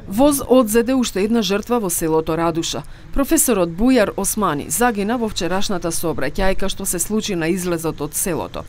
Воз одзеде уште една жртва во селото Радуша. Професорот Бујар Османи загина во вчерашната сообраќајка што се случи на излезот од селото.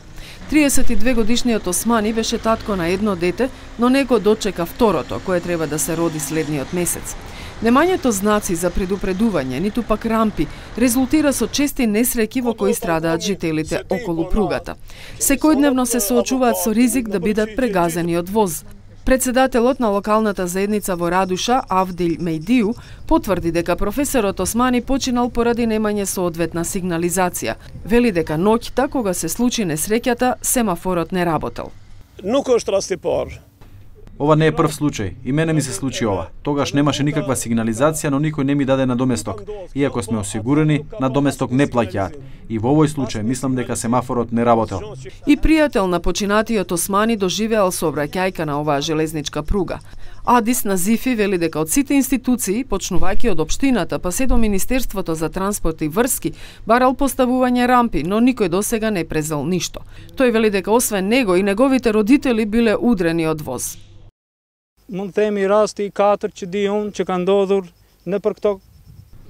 32 годишниот Османи беше татко на едно дете, но него дочека второто, кое треба да се роди следниот месец. Немањето знаци за предупредување, ниту пак рампи, резултира со чести несреќи во кои страдаат жителите околу пругата. Секојдневно се соочуваат со ризик да бидат прегазени од воз. Председателот на локалната заедница во Радуша, Авдил Мејдију, потврди дека професорот Османи починал поради немање соодветна сигнализација. Вели дека ноќта, кога се случи несреќата, семафорот не работел. Ова не е прв случај. И мене ми се случи ова. Тогаш немаше никаква сигнализација, но никој не ми даде надоместок. Иако сме осигурени, надоместок не плаќаат. И во овој случај мислам дека семафорот не работел. И пријател на починатиот Османи доживеал сообраќајка на оваа железничка пруга. Адис Назифи вели дека од сите институции, почнувајќи од општината па се до Министерството за транспорт и врски, барал поставување рампи, но никој досега не презел ништо. Тој вели дека освен него и неговите родители биле удрени од воз. Mund të themi rasti 4 që di unë që ka ndodhur në për këto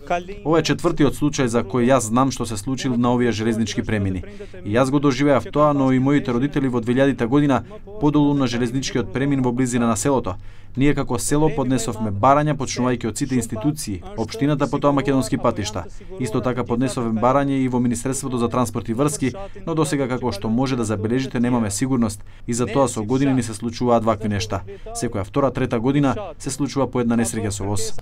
kalim. Ова е четвртиот случај за кој јас знам што се случил на овие железнички премини. И јас го доживеав тоа, но и моите родители во 2000 година подолу на железничкиот премин во близина на селото. Ние како село поднесовме барања почнувајќи од сите институции, општината, потоа македонски патишта. Исто така поднесовме барање и во Министерството за транспорт и врски, но досега како што може да забележите немаме сигурност и за тоа со години ни се случуваат вакви нешта. Секоја втора, трета година се случува по една несреќа со воз.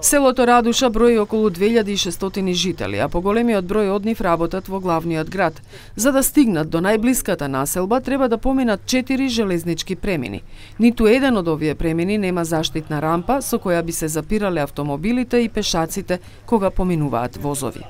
Селото Радуша брои околу 2600 жители, а поголемиот број од нив работат во главниот град. За да стигнат до најблиската населба, треба да поминат 4 железнички премини. Ниту еден од овие премини нема заштитна рампа со која би се запирале автомобилите и пешаците кога поминуваат возови.